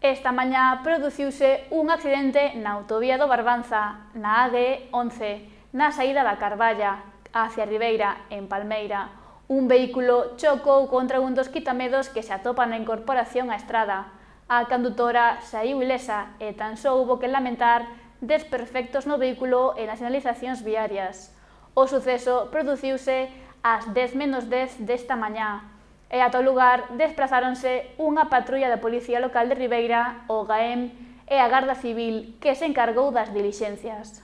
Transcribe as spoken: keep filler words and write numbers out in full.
Esta mañá produciuse un accidente na autovía do Barbanza, na A G once, na saída da Carballa, hacia Ribeira, en Palmeira. Un vehículo chocou contra un dos quitamedos que se atopa na incorporación á estrada. A condutora saíu ilesa e tan só houbo que lamentar desperfectos no vehículo e nas sinalizacións viarias. O suceso produciuse ás dez menos dez desta mañá, e ata o lugar desprazáronse unha patrulla da Policía Local de Ribeira, o G A E M e a Garda Civil, que se encargou das dilixencias.